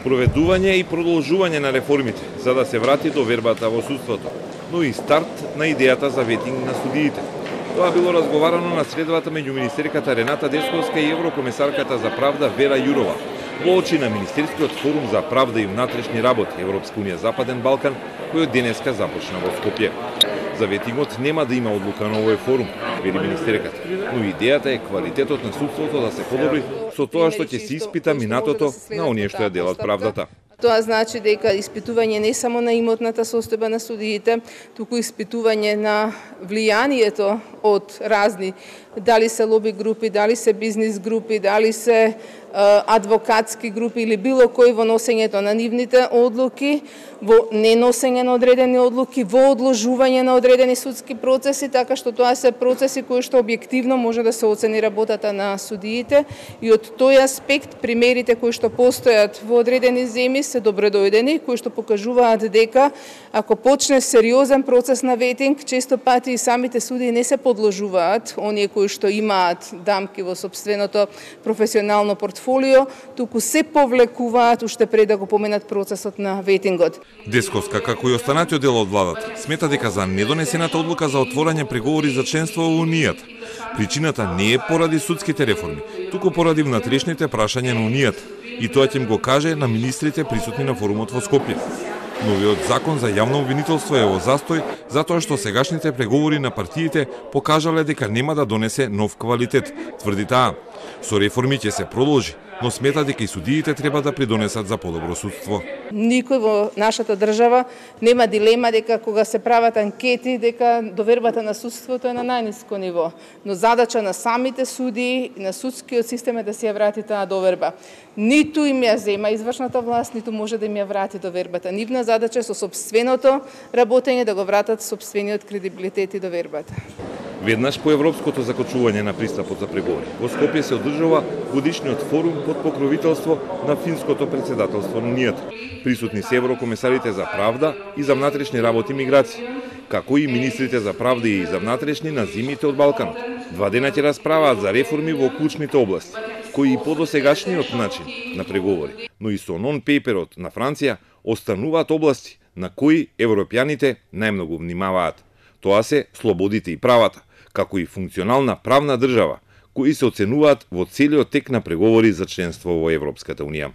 Проведување и продолжување на реформите за да се врати довербата во судството, но и старт на идејата за ветинг на судиите. Тоа било разговарано на средбата меѓу министерката Рената Десковска и еврокомесарката за правда Вера Јурова во очи на Министерскиот форум за правда и внатрешни работи Европска унија Западен Балкан, кој денеска започна во Скопје. За ветингот нема да има одлука на овој форум, вели министерката, но идејата е квалитетот на судството да се подобри со тоа што ќе се испита минатото на оние што ја делат правдата. Тоа значи дека испитување не само на имотната состојба на судиите, туку испитување на влијанието од разни, дали се лоби групи, дали се бизнис групи, дали се адвокатски групи или било кој во носењето на нивните одлуки, во неносење на одредени одлуки, во одложување на одредени судски процеси, така што тоа се процеси кои што објективно може да се оцени работата на судиите и од тој аспект примерите кои што постојат во одредени земји се добредојдени, кои што покажуваат дека ако почне сериозен процес на ветинг, често пати и самите судии не се подложуваат, оние кои што имаат дамки во собственото професионално портфолио, туку се повлекуваат уште пред да го поменат процесот на ветингот. Десковска, како и останатиот дел од владата, смета дека за недонесената одлука за отворање преговори за членство во Унијата, причината не е поради судските реформи, туку поради внатрешните прашања на Унијата, и тоа ќе им го каже на министрите присутни на форумот во Скопје. Новиот закон за јавно обвинителство е во застој затоа што сегашните преговори на партиите покажале дека нема да донесе нов квалитет, тврди таа. Со реформи ќе се продолжи, но смета дека и судиите треба да придонесат за подобро судство. Никој во нашата држава нема дилема дека кога се прават анкети дека довербата на судството е на најниско ниво, но задача на самите судии и на судскиот систем е да се ја врати таа доверба. Ниту им ја зема извршната власт, ниту може да им ја врати довербата. Нивна задача е со сопственото работење да го вратат сопствениот кредибилитет и довербата. Веднаш по европското закочување на пристапот за преговори, во Скопје се одржува годишниот форум под покровителство на финското претседателство на Унијата. Присутни се еврокомесарите за правда и за внатрешни работи и миграции, како и министрите за правда и за внатрешни на земјите од Балканот. 2 дена ќе расправаат за реформи во клучните области, кои и по досегашниот начин на преговори, но и со нон-пейперот на Франција остануваат области на кои европјаните најмногу внимаваат. Тоа се слободите и правата, како и функционална правна држава, кои се оценуваат во целиот тек на преговори за членство во Европската унија.